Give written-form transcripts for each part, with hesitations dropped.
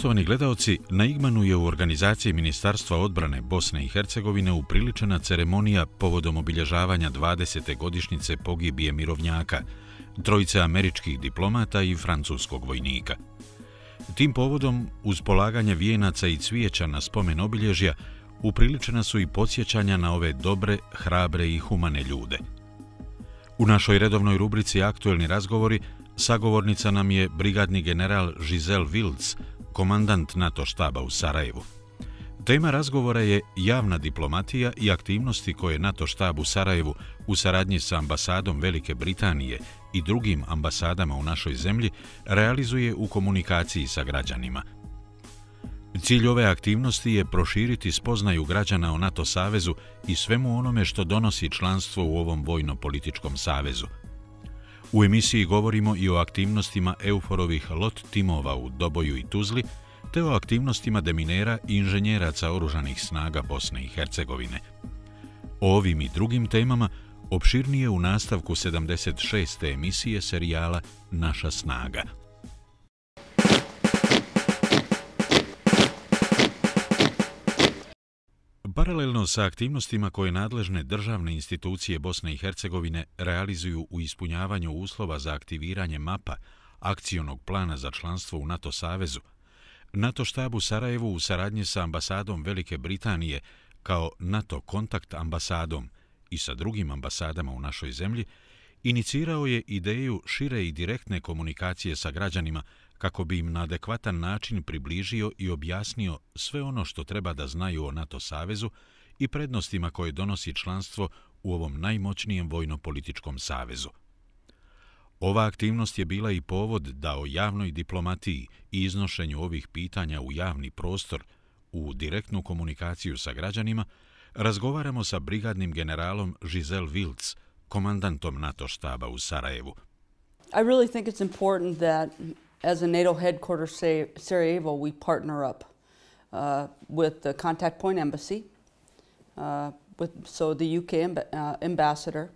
Poštovani gledaoci, na Igmanu je u organizaciji Ministarstva odbrane Bosne i Hercegovine upriličena ceremonija povodom obilježavanja 20. godišnjice pogibije mirovnjaka, trojice američkih diplomata i francuskog vojnika. Tim povodom, uz polaganje vijenaca i cvijeća na spomen obilježja, upriličena su i podsjećanja na ove dobre, hrabre i humane ljude. U našoj redovnoj rubrici Aktuelni razgovori sagovornica nam je brigadni general Giselle Wilds, komandant NATO štaba u Sarajevu. Tema razgovora je javna diplomatija i aktivnosti koje NATO štab u Sarajevu u saradnji sa ambasadom Velike Britanije i drugim ambasadama u našoj zemlji realizuje u komunikaciji sa građanima. Cilj ove aktivnosti je proširiti spoznaju građana o NATO savezu i svemu onome što donosi članstvo u ovom vojno-političkom savezu. U emisiji govorimo i o aktivnostima EUFOR-ovih LOT timova u Doboju i Tuzli, te o aktivnostima deminera i inženjeraca oružanih snaga Bosne i Hercegovine. O ovim i drugim temama opširnije u nastavku 76. emisije serijala Naša snaga. Paralelno sa aktivnostima koje nadležne državne institucije Bosne i Hercegovine realizuju u ispunjavanju uslova za aktiviranje MAP-a, akcionog plana za članstvo u NATO savezu, NATO štab u Sarajevu u saradnji sa ambasadom Velike Britanije kao NATO kontakt ambasadom i sa drugim ambasadama u našoj zemlji inicirao je ideju šire i direktne komunikacije sa građanima kako bi im na adekvatan način približio i objasnio sve ono što treba da znaju o NATO savezu i prednostima koje donosi članstvo u ovom najmoćnijem vojno-političkom savezu. Ova aktivnost je bila i povod da o javnoj diplomatiji i iznošenju ovih pitanja u javni prostor, u direktnu komunikaciju sa građanima, razgovaramo sa brigadnim generalom Giselle Wilds, komandantom NATO štaba u Sarajevu. I really think it's important that as a NATO headquarters Sarajevo, we partner up with the contact point embassy, so the UK ambassador,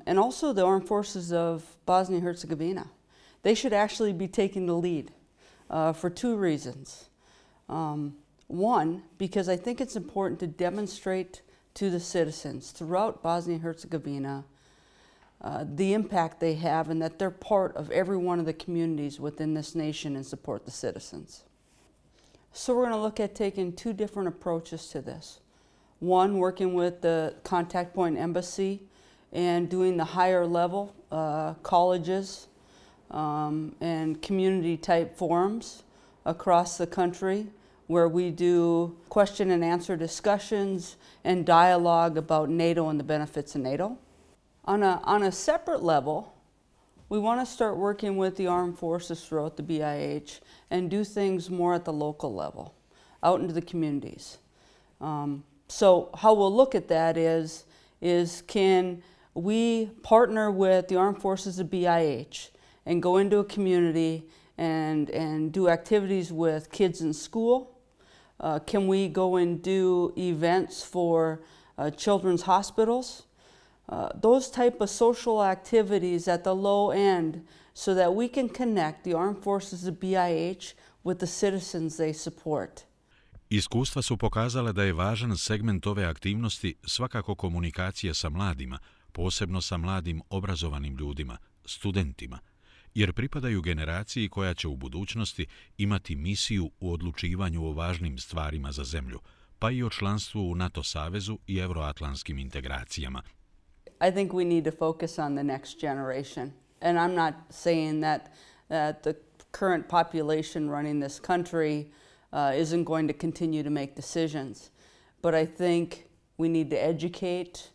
and also the armed forces of Bosnia and Herzegovina. They should actually be taking the lead for two reasons. One, because I think it's important to demonstrate to the citizens throughout Bosnia and Herzegovina the impact they have and that they're part of every one of the communities within this nation and support the citizens. So we're going to look at taking two different approaches to this. One, working with the contact point embassy and doing the higher level colleges and community type forums across the country where we do question and answer discussions and dialogue about NATO and the benefits of NATO. On a separate level, we want to start working with the armed forces throughout the BIH and do things more at the local level, out into the communities. So how we'll look at that is can we partner with the armed forces of BIH and go into a community and do activities with kids in school? Can we go and do events for children's hospitals? Those type of social activities at the low end so that we can connect the armed forces of BIH with the citizens they support. Iskustva su pokazala da je važan segment ove aktivnosti svakako komunikacija sa mladima, posebno sa mladim obrazovanim ljudima, studentima, jer pripadaju generaciji koja će u budućnosti imati misiju u odlučivanju o važnim stvarima za zemlju, pa i o članstvu u NATO savezu i euroatlantskim integracijama. I think we need to focus on the next generation. And I'm not saying that the current population running this country isn't going to continue to make decisions. But I think we need to educate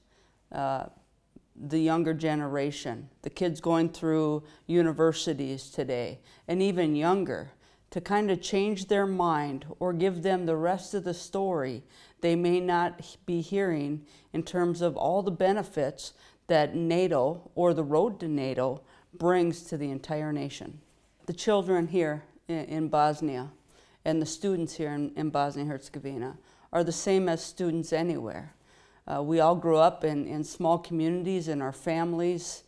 the younger generation, the kids going through universities today, and even younger, to kind of change their mind or give them the rest of the story they may not be hearing in terms of all the benefits that NATO or the road to NATO brings to the entire nation. The children here in Bosnia and the students here in Bosnia and Herzegovina are the same as students anywhere. We all grew up in small communities in our families,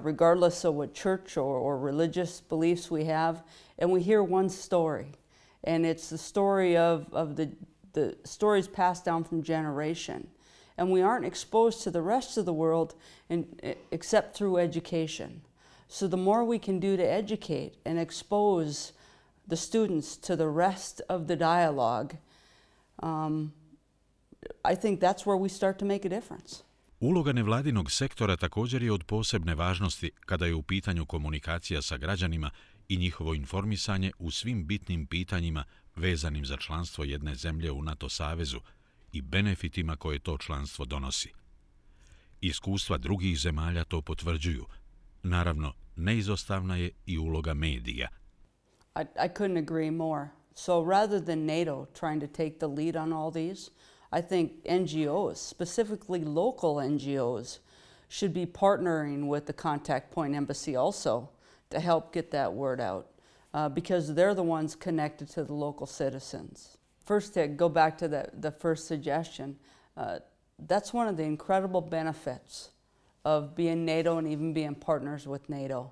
regardless of what church or religious beliefs we have, and we hear one story. And it's the story of the stories passed down from generation. And we aren't exposed to the rest of the world except through education. So the more we can do to educate and expose the students to the rest of the dialogue, I think that's where we start to make a difference. Uloga nevladinog sektora također je od posebne važnosti kada je u pitanju komunikacija sa građanima i njihovo informisanje u svim bitnim pitanjima vezanim za članstvo jedne zemlje u NATO savezu i benefitima koje to članstvo donosi. Iskustva drugih zemalja to potvrđuju. Naravno, neizostavna je i uloga medija. I couldn't agree more. So rather than NATO trying to take the lead on all these, I think NGOs, specifically local NGOs, should be partnering with the Contact Point Embassy also to help get that word out because they're the ones connected to the local citizens. First, to go back to the first suggestion, that's one of the incredible benefits of being NATO and even being partners with NATO.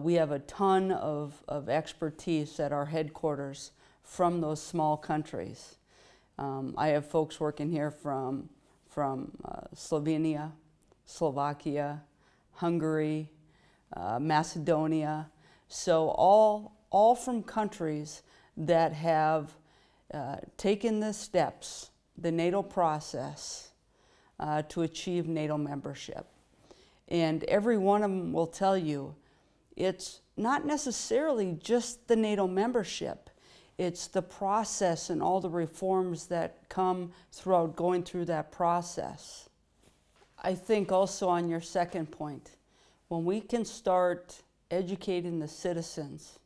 We have a ton of expertise at our headquarters from those small countries. I have folks working here from Slovenia, Slovakia, Hungary, Macedonia. So all from countries that have taken the steps, the NATO process, to achieve NATO membership. And every one of them will tell you it's not necessarily just the NATO membership. It's the process and all the reforms that come throughout going through that process. I think also on your second point, when we can start educating the citizens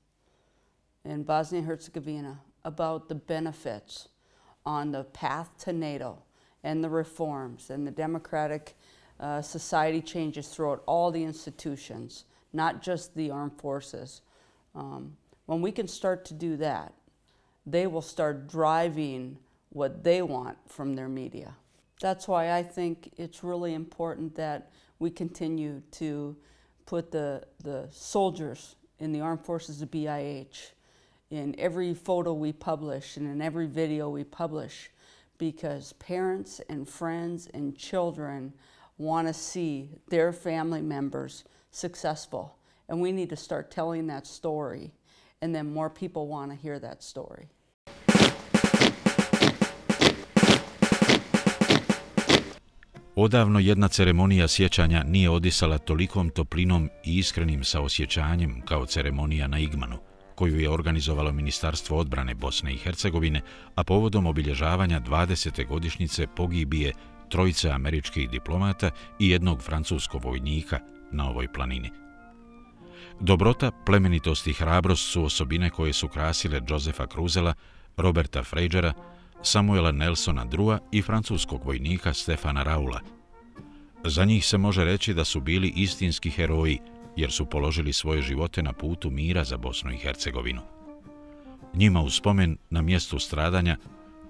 in Bosnia and Herzegovina about the benefits on the path to NATO and the reforms and the democratic society changes throughout all the institutions, not just the armed forces. When we can start to do that, they will start driving what they want from their media. That's why I think it's really important that we continue to put the soldiers in the armed forces of BIH in every photo we publish and in every video we publish, because parents and friends and children want to see their family members successful. And we need to start telling that story, and then more people want to hear that story. Odavno jedna ceremonija sjećanja nije odisala tolikom toplinom i iskrenim saosjećanjem kao ceremonija na Igmanu, koju je organizovalo Ministarstvo odbrane Bosne i Hercegovine, a povodom obilježavanja 20. godišnjice pogibije 3 američkih diplomata i 1 francuskog vojnika na ovoj planini. Dobrota, plemenitost i hrabrost su osobine koje su krasile Josefa Kruzela, Roberta Frejera, Samuela Nelsona Drua i francuskog vojnika Stefana Raula. Za njih se može reći da su bili istinski heroji, jer su položili svoje živote na putu mira za Bosnu i Hercegovinu. Njima u spomen na mjestu stradanja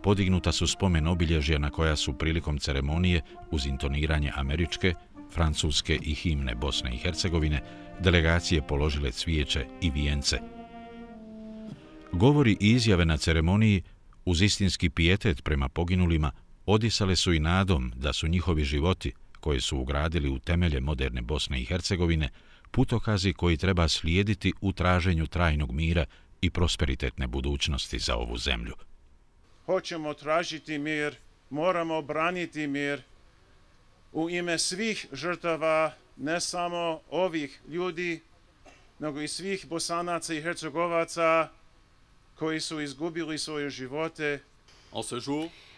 podignuta su spomen obilježja na koja su prilikom ceremonije uz intoniranje američke, francuske i himne Bosne i Hercegovine delegacije položile cvijeće i vijence. Govori i izjave na ceremoniji uz istinski pijetet prema poginulima odisale su i nadom da su njihovi životi, koje su ugradili u temelje moderne Bosne i Hercegovine, putokazi koji treba slijediti u traženju trajnog mira i prosperitetne budućnosti za ovu zemlju. Hoćemo tražiti mir, moramo braniti mir u ime svih žrtava, ne samo ovih ljudi, nego i svih Bosanaca i Hercegovaca koji su izgubili svoje živote.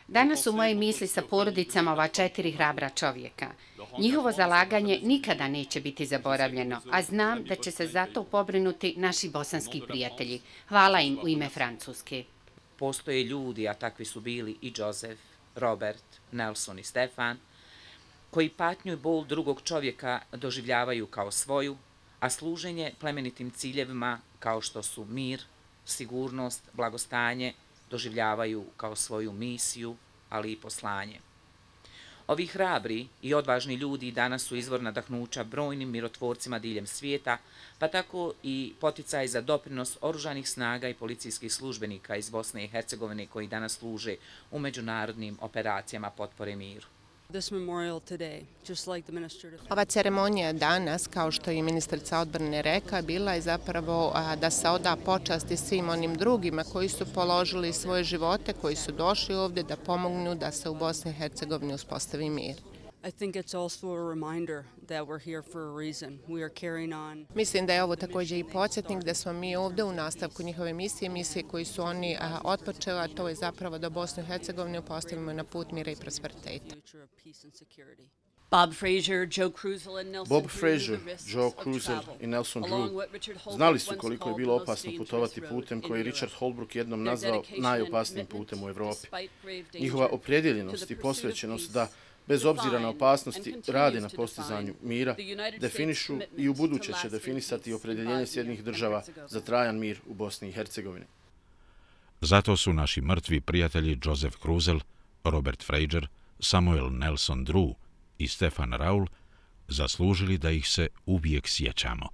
Danas su moje misli sa porodicama ova 4 hrabra čovjeka. Njihovo zalaganje nikada neće biti zaboravljeno, a znam da će se za to pobrinuti naši bosanski prijatelji. Hvala im u ime Francuske. Postoje ljudi, a takvi su bili i Josef, Robert, Nelson i Stefan, koji patnju i bol drugog čovjeka doživljavaju kao svoju, a služenje plemenitim ciljevima kao što su mir, sigurnost, blagostanje, doživljavaju kao svoju misiju, ali i poslanje. Ovi hrabri i odvažni ljudi danas su izvor nadahnuća brojnim mirotvorcima diljem svijeta, pa tako i poticaj za doprinos oružanih snaga i policijskih službenika iz Bosne i Hercegovine koji danas služe u međunarodnim operacijama potpore miru. Ova ceremonija danas, kao što je ministrica odbrane rekla, bila je zapravo da se oda počasti svim onim drugima koji su položili svoje živote, koji su došli ovdje da pomognu da se u Bosni i Hercegovini uspostavi mir. Mislim da je ovo također i podsjetnik da smo mi ovdje u nastavku njihove misije koji su oni otpočeli, a to je zapravo da Bosnu i Hercegovinu postavimo na put mira i prosperiteta. Bob Fraser, Joe Cruzel i Nelson Drew znali su koliko je bilo opasno putovati putem koji Richard Holbrooke jednom nazvao najopasnijim putem u Evropi. Njihova opredjeljenost i posvećenost da, bez obzira na opasnosti, rade na postizanju mira, definišu i u buduće će definisati opredjeljenje Sjedinjenih Država za trajan mir u Bosni i Hercegovini. Zato su naši mrtvi prijatelji Joseph Cruzel, Robert Fraser, Samuel Nelson Drew i Stefan Raul zaslužili da ih se uvijek sjećamo.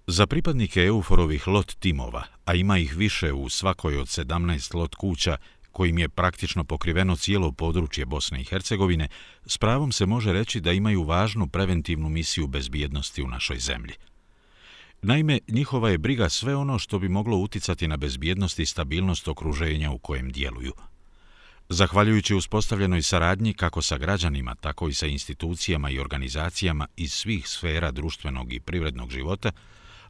Za pripadnike EUFOR-ovih LOT timova, a ima ih više u svakoj od 17 LOT kuća, kojim je praktično pokriveno cijelo područje Bosne i Hercegovine, s pravom se može reći da imaju važnu preventivnu misiju bezbjednosti u našoj zemlji. Naime, njihova je briga sve ono što bi moglo uticati na bezbjednost i stabilnost okruženja u kojem djeluju. Zahvaljujući uspostavljenoj saradnji kako sa građanima, tako i sa institucijama i organizacijama iz svih sfera društvenog i privrednog života,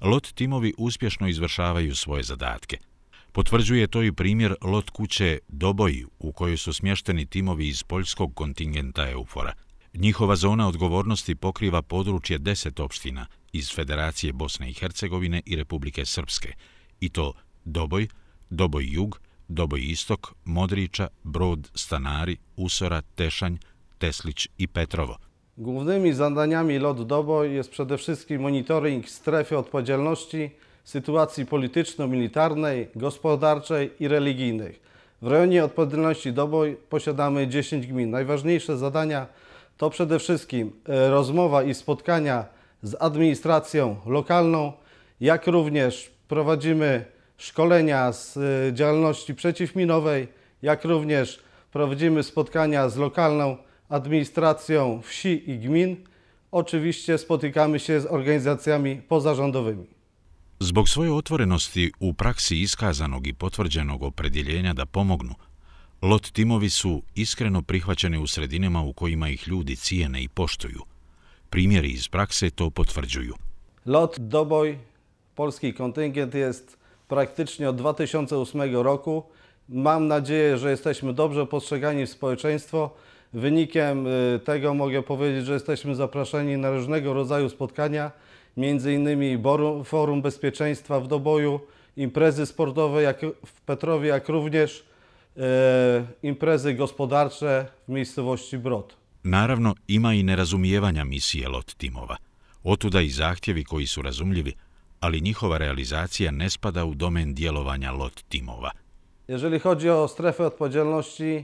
LOT timovi uspješno izvršavaju svoje zadatke. Potvrđuje to i primjer LOT kuće Doboj, u kojoj su smješteni timovi iz poljskog kontingenta EUFOR-a. Njihova zona odgovornosti pokriva područje 10 opština iz Federacije Bosne i Hercegovine i Republike Srpske, i to Doboj, Doboj Jug, Doboj Istok, Modriča, Brod, Stanari, Usora, Tešanj, Teslić i Petrovo. Głównymi zadaniami LOT Doboj jest przede wszystkim monitoring strefy odpowiedzialności, sytuacji polityczno-militarnej, gospodarczej i religijnej. W rejonie odpowiedzialności Doboj posiadamy 10 gmin. Najważniejsze zadania to przede wszystkim rozmowa i spotkania z administracją lokalną, jak również prowadzimy szkolenia z działalności przeciwminowej, jak również prowadzimy spotkania z lokalną administracją wsi i gmin. Oczywiście spotykamy się z organizacjami pozarządowymi. Zbog svoje otvorenosti u praksi iskazanog i potvrđenog opredjeljenja da pomognu, LOT timovi su iskreno prihvaćeni u sredinama u kojima ih ljudi cijene i poštuju. Primjeri iz prakse to potvrđuju. LOT Doboj, polski kontyngent jest praktycznie od 2008 roku. Mam nadzieję, że jesteśmy dobrze postrzegani w społeczeństwo. Wynikiem tego mogę powiedzieć, że jesteśmy zapraszani na różnego rodzaju spotkania, między innymi Forum Bezpieczeństwa w Doboju, imprezy sportowe jak w Petrowie, jak również imprezy gospodarcze w miejscowości Brod. Naravno, ima i nerazumijevanja misije LOT timova. Otuda i zahtjevi koji su razumljivi, ali njihova realizacija ne spada u domen djelovanja LOT timova. Jeżeli chodzi o strefę odpowiedzialności,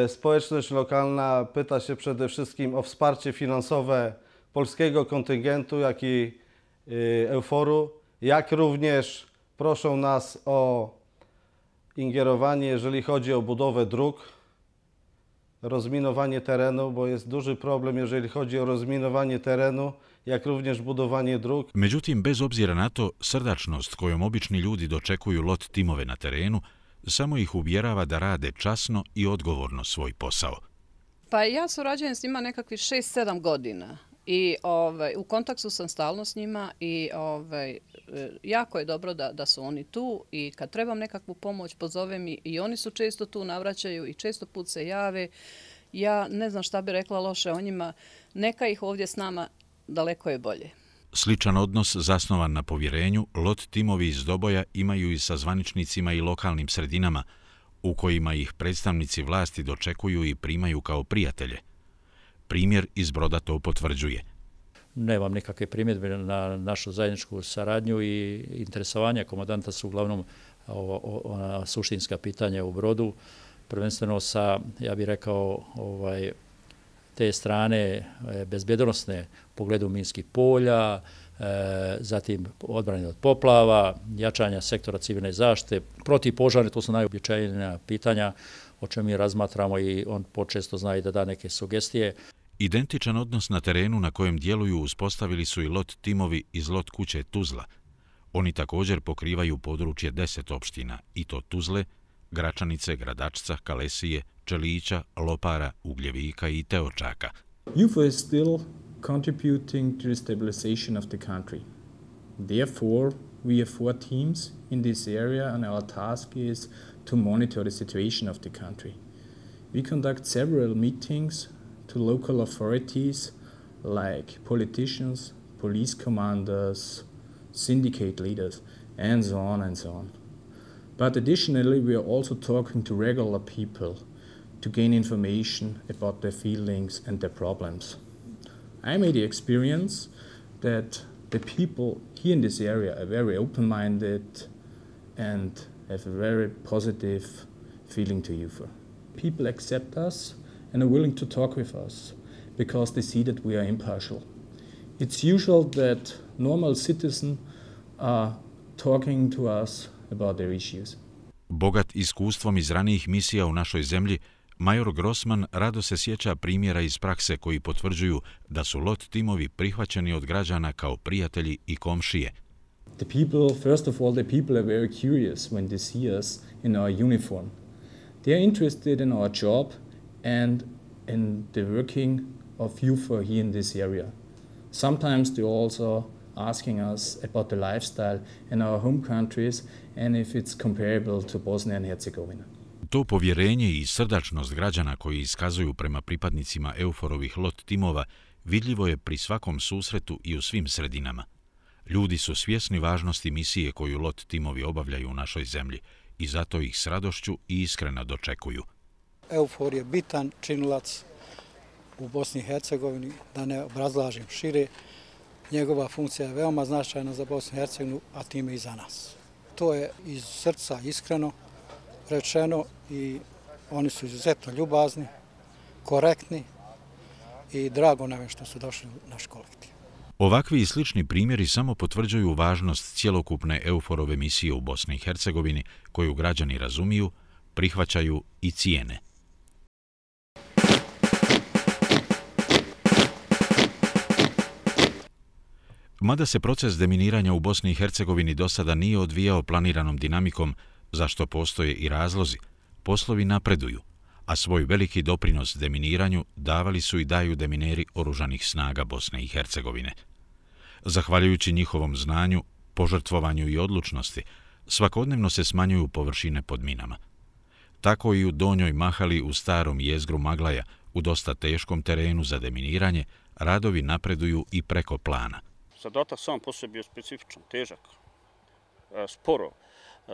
społeczność lokalna pyta się przede wszystkim o wsparcie finansowe polskiego kontyngentu, jak i EUFOR-u, jak również proszą nas o ingerowanie, jeżeli chodzi o budowę dróg, rozminowanie terenu, bo jest duży problem, jeżeli chodzi o rozminowanie terenu, jak również budowanie dróg. Međutim, bez obzira na to, srdačnost kojom obični ljudi dočekuju LOT timove na terenu samo ih uvjerava da rade časno i odgovorno svoj posao. Pa ja surađujem s njima nekakvih 6-7 godina i u kontaktu sam stalno s njima i jako je dobro da su oni tu i kad trebam nekakvu pomoć pozovem i oni su često tu, navraćaju i često put se jave. Ja ne znam šta bi rekla loše o njima, neka ih ovdje s nama, daleko je bolje. Sličan odnos zasnovan na povjerenju LOT timovi iz Doboja imaju i sa zvaničnicima i lokalnim sredinama, u kojima ih predstavnici vlasti dočekuju i primaju kao prijatelje. Primjer iz Broda to potvrđuje. Nemam nikakve primjedbe na našu zajedničku saradnju i interesovanja komandanta su uglavnom suštinska pitanja u Brodu, prvenstveno sa, ja bih rekao, te strane bezbjednosne u pogledu minskih polja, zatim odbrane od poplava, jačanja sektora civilne zaštite, protivpožarne, to su najobičajnija pitanja o čemu mi razmatramo i on počesto zna i da da neke sugestije. Identičan odnos na terenu na kojem djeluju uspostavili su i LOT timovi iz LOT kuće Tuzla. Oni također pokrivaju područje 10 opština, i to Tuzle, Gračanice, Gradačca, Kalesije, Čelića, Lopara, Ugljevika i Teočaka. UFO is still contributing to the stabilization of the country. Therefore, we have 4 teams in this area and our task is to monitor the situation of the country. We conduct several meetings to local authorities like politicians, police commanders, syndicate leaders, and so on and so on. But additionally, we are also talking to regular people to gain information about their feelings and their problems. I made the experience that the people here in this area are very open-minded and have a very positive feeling to UFO. People accept us and are willing to talk with us because they see that we are impartial. It's usual that normal citizens are talking to us about their issues. Bogat iskustvom iz ranijih misija u našoj zemlji, major Grossman rado se sjeća primjera iz prakse koji potvrđuju da su LOT timovi prihvaćeni od građana kao prijatelji i komšije. The people, first of all, the people are very curious when they see us in our uniform. They are interested in our job and in the working of UFO here in this area. Sometimes they also asking us about the lifestyle in our home countries and if it's comparable to Bosnia and Herzegovina. To povjerenje i srdačnost građana koji iskazuju prema pripadnicima EUFOR-ovih LOT timova vidljivo je pri svakom susretu i u svim sredinama. Ljudi su svjesni važnosti misije koju LOT timovi obavljaju u našoj zemlji i zato ih s radošću i iskreno dočekuju. EUFOR je bitan činilac u Bosni i Hercegovini, da ne obrazlažem šire. Njegova funkcija je veoma značajna za Bosnu i Hercegovinu, a time i za nas. To je iz srca iskreno rečeno i oni su izuzetno ljubazni, korektni i drago nam je što su došli u naš kolektiv. Ovakvi i slični primjeri samo potvrđuju važnost cjelokupne EUFOR-ove misije u Bosni i Hercegovini koju građani razumiju, prihvaćaju i cijene. Mada se proces deminiranja u Bosni i Hercegovini do sada nije odvijao planiranom dinamikom, za što postoje i razlozi, poslovi napreduju, a svoj veliki doprinos deminiranju davali su i daju demineri oružanih snaga Bosne i Hercegovine. Zahvaljujući njihovom znanju, požrtvovanju i odlučnosti, svakodnevno se smanjuju površine pod minama. Tako i u Donjoj Mahali u starom jezgru Maglaja, u dosta teškom terenu za deminiranje, radovi napreduju i preko plana. Zadatak sam po sebi je specifičan, težak, sporo,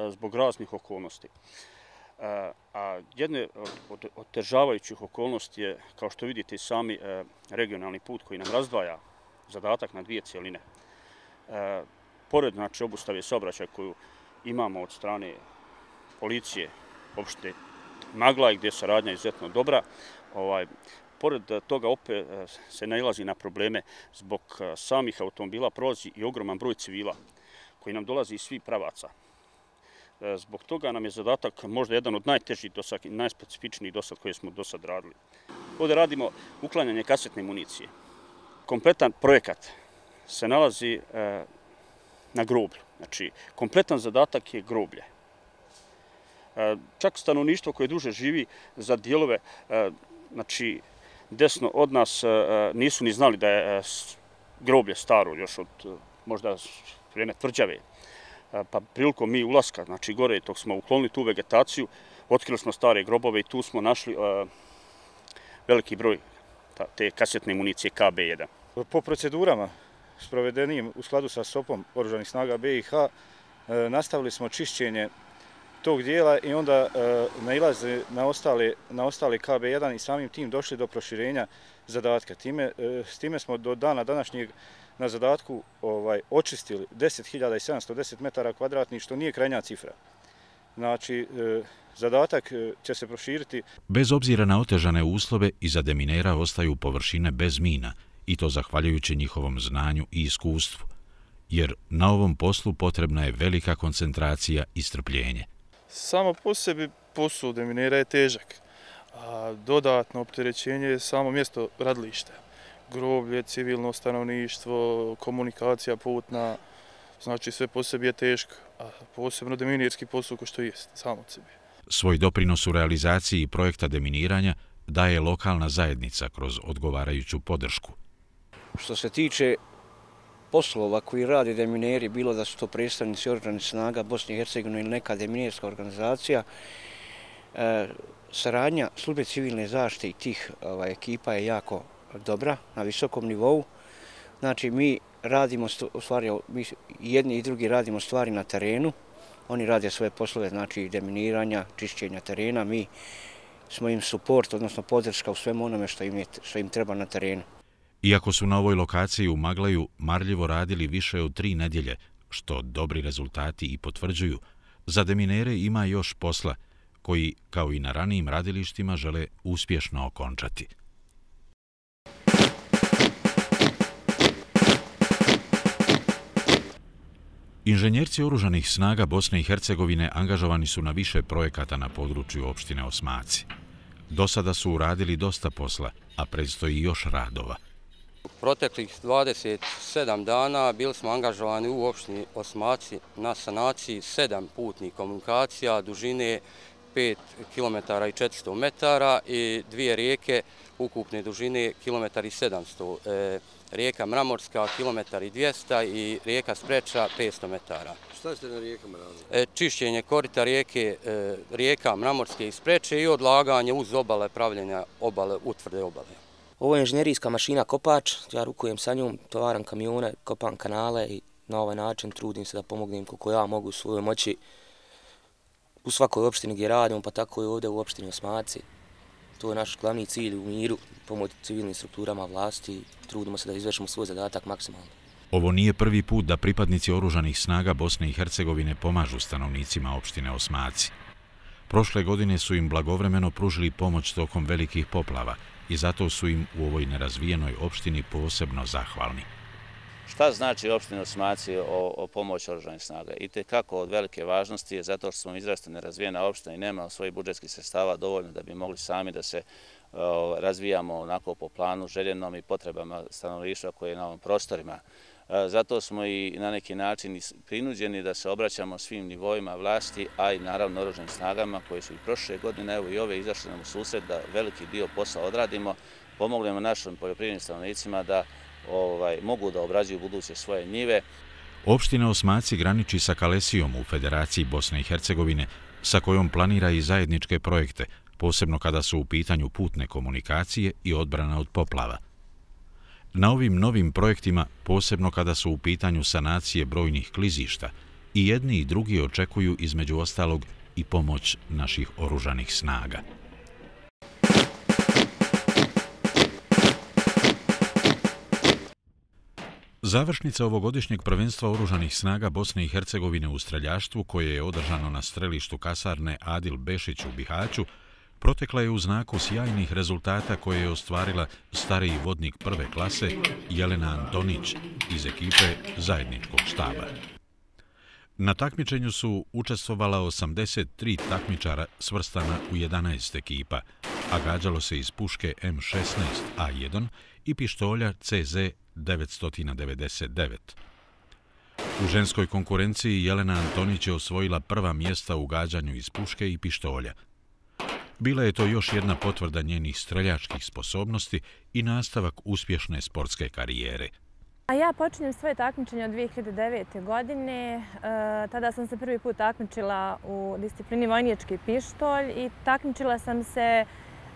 zbog raznih okolnosti. A jedne od otežavajućih okolnosti je, kao što vidite sami, regionalni put koji nam razdvaja zadatak na 2 cijeline. Pored obustave saobraćaja koju imamo od strane policije opštine Maglaj, gdje je saradnja izuzetno dobra, pored toga opet se nailazi na probleme zbog samih automobila, prolazi i ogroman broj civila koji nam dolazi iz svih pravaca. Zbog toga nam je zadatak možda jedan od najtežih i najspecifičnijih dosad koje smo dosad radili. Ovdje radimo uklanjanje kasetne municije. Kompletan projekat se nalazi na groblju. Znači, kompletan zadatak je groblje. Čak stanovništvo koje duže živi za dijelove, znači, desno od nas nisu ni znali da je groblje staro još od možda vrijeme tvrđave. Pa prilikom mi ulaska, znači gore, dok smo uklonili tu vegetaciju, otkrili smo stare grobove i tu smo našli veliki broj te kasetne municije KB1. Po procedurama sprovedenim u skladu sa SOP-om Oružanih snaga BiH nastavili smo čišćenje tog dijela i onda nailaze na ostale KB1 i samim tim došli do proširenja zadatka. S time smo do dana današnjeg na zadatku očistili 10.710 metara kvadratnih, što nije krajnja cifra. Znači, zadatak će se proširiti. Bez obzira na otežane uslove, iza deminera ostaju površine bez mina, i to zahvaljujući njihovom znanju i iskustvu, jer na ovom poslu potrebna je velika koncentracija i strpljenje. Samo po sebi posao deminera je težak, a dodatno opterećenje je samo mjesto radilišta. Groblje, civilno stanovništvo, komunikacija putna, znači sve po sebi je teško, a posebno deminirski posao ko što je samo od sebi. Svoj doprinos u realizaciji projekta deminiranja daje lokalna zajednica kroz odgovarajuću podršku. Što se tiče poslova koji rade demineri, bilo da su to predstavnici oružanih snaga Bosne i Hercegovine ili neka deminirska organizacija, saradnja službe civilne zaštite i tih ekipa je jako dobra, na visokom nivou. Znači, mi radimo stvari, jedni i drugi radimo stvari na terenu. Oni rade svoje poslove, znači deminiranja, čišćenja terena. Mi smo im suport, odnosno podrška u svemu onome što im treba na terenu. Iako su na ovoj lokaciji u Maglaju marljivo radili više od 3 nedjelje, što dobri rezultati i potvrđuju, za deminere ima još posla, koji, kao i na ranijim radilištima, žele uspješno okončati. Inženjerci oružanih snaga Bosne i Hercegovine angažovani su na više projekata na području opštine Osmaci. Do sada su uradili dosta posla, a predstoji još radova. Proteklih 27 dana bili smo angažovani u opštini Osmaci na sanaciji 7 putnih komunikacija dužine 5 km i 400 metara i 2 rijeke ukupne dužine 1 km i 700. Rijeka Mramorska, 1 km i 200 i rijeka Spreča, 500 metara. Šta ste na rijekama radili? Čišćenje korita rijeka Mramorske i Spreče i odlaganje uz obale, pravljenja obale, utvrde obale. Ovo je inženjerijska mašina kopač, ja rukujem sa njom, tovaram kamione, kopam kanale i na ovaj način trudim se da pomognem koliko ja mogu u svojoj moći u svakoj opštini gdje radimo, pa tako i ovdje u opštini Osmaci. To je naš glavni cilj u miru, pomoć civilnim strukturama vlasti i trudimo se da izvršimo svoj zadatak maksimalno. Ovo nije prvi put da pripadnici oružanih snaga Bosne i Hercegovine pomažu stanovnicima opštine Osmaci. Prošle godine su im blagovremeno pružili pomoć tokom velikih poplava i zato su im u ovoj nerazvijenoj opštini posebno zahvalni. Šta znači opština Osmaci o pomoći oružanih snaga? I tekako od velike važnosti je zato što smo izrazito nerazvijena opština i nema svojih budžetskih sredstava dovoljno da bi mogli sami da se razvijamo onako po planu željenom i potrebama stanovništva koje je na ovim prostorima. Zato smo i na neki način prinuđeni da se obraćamo svim nivoima vlasti, a i naravno oružanim snagama koje su i prošle godine, evo i ove izašle nam u susret da veliki dio posla odradimo, pomognemo našim poljoprivrednim stanovnicima da mogu da obrađuju buduće svoje njive. Opština Osmaci graniči sa Kalesijom u Federaciji Bosne i Hercegovine, sa kojom planira i zajedničke projekte, posebno kada su u pitanju putne komunikacije i odbrana od poplava. Na ovim novim projektima, posebno kada su u pitanju sanacije brojnih klizišta, i jedni i drugi očekuju između ostalog i pomoć naših oružanih snaga. Završnica ovogodišnjeg prvenstva oružanih snaga Bosne i Hercegovine u streljaštvu, koje je održano na strelištu kasarne Adil Bešić u Bihaću, protekla je u znaku sjajnih rezultata koje je ostvarila stariji vodnik prve klase Jelena Antonić iz ekipe zajedničkog štaba. Na takmičenju su učestvovala 83 takmičara svrstana u 11 ekipa, a gađalo se iz puške M16A1 i pištolja CZ 999. U ženskoj konkurenciji Jelena Antonić je osvojila prva mjesta u gađanju iz puške i pištolja. Bila je to još jedna potvrda njenih streljačkih sposobnosti i nastavak uspješne sportske karijere. Ja počinjem svoje takmičenje od 2009. godine. Tada sam se prvi put takmičila u disciplini vojnički pištolj i takmičila sam se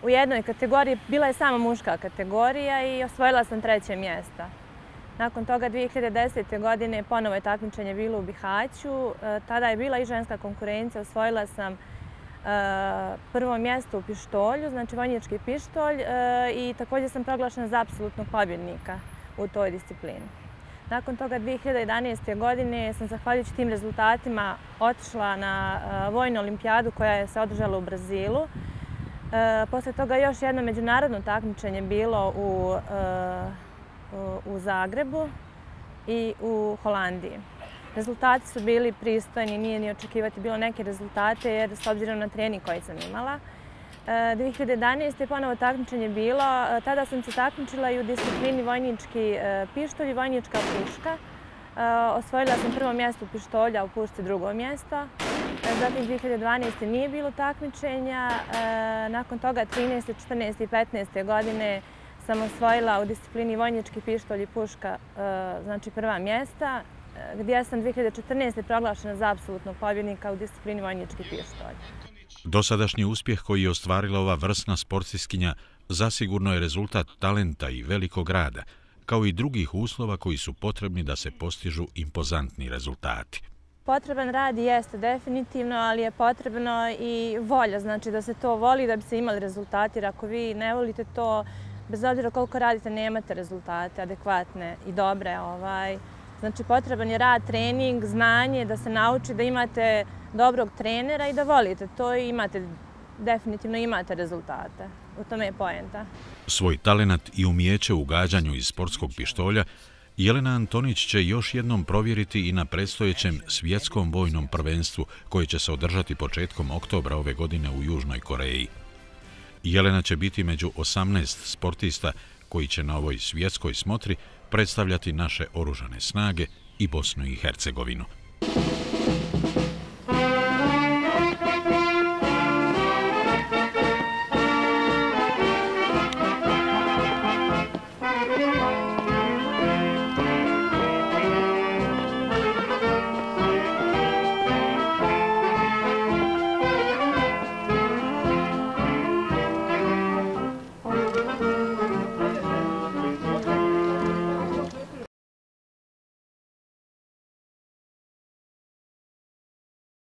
u jednoj kategoriji, bila je samo muška kategorija i osvojila sam 3. mjesto. Nakon toga 2010. godine ponovo je takmičenje bilo u Bihaću. Tada je bila i ženska konkurencija, osvojila sam 1. mjesto u pištolju, znači vojnički pištolj, i također sam proglašena za apsolutnog pobjednika u toj disciplini. Nakon toga 2011. godine sam zahvaljujući tim rezultatima otišla na vojnu olimpijadu koja se održala u Brazilu. Posle toga još jedno međunarodno takmičenje bilo u Zagrebu i u Holandiji. Rezultati su bili pristojni, nije ni očekivati bilo neke rezultate jer s obzirom na trening koji sam imala. 2011. je ponovo takmičenje bilo, tada sam se takmičila i u disciplini vojnički pištolj i vojnička puška. Osvojila sam prvo mjesto u pištolju, a u pušci drugo mjesto. Zatim 2012. nije bilo takmičenja, nakon toga 13., 14. i 15. godine sam osvojila u disciplini vojnički pištolj i puška, znači prva mjesta, gdje sam 2014. proglašena za apsolutnog pobjednika u disciplini vojnički pištolj. Dosadašnji uspjeh koji je ostvarila ova vrsna sportistkinja zasigurno je rezultat talenta i velikog rada, kao i drugih uslova koji su potrebni da se postižu impozantni rezultati. Potreban rad jeste definitivno, ali je potrebno i volja, znači da se to voli da bi se imali rezultati, jer ako vi ne volite to, bez obzira koliko radite, nemate rezultate adekvatne i dobre. Znači potreban je rad, trening, znanje, da se nauči da imate dobrog trenera i da volite to i definitivno imate rezultate. U tome je poenta. Svoj talenat i umijeće u gađanju iz sportskog pištolja Jelena Antonić će još jednom provjeriti i na predstojećem svjetskom vojnom prvenstvu koje će se održati početkom oktobra ove godine u Južnoj Koreji. Jelena će biti među 18 sportista koji će na ovoj svjetskoj smotri predstavljati naše oružane snage i Bosnu i Hercegovinu.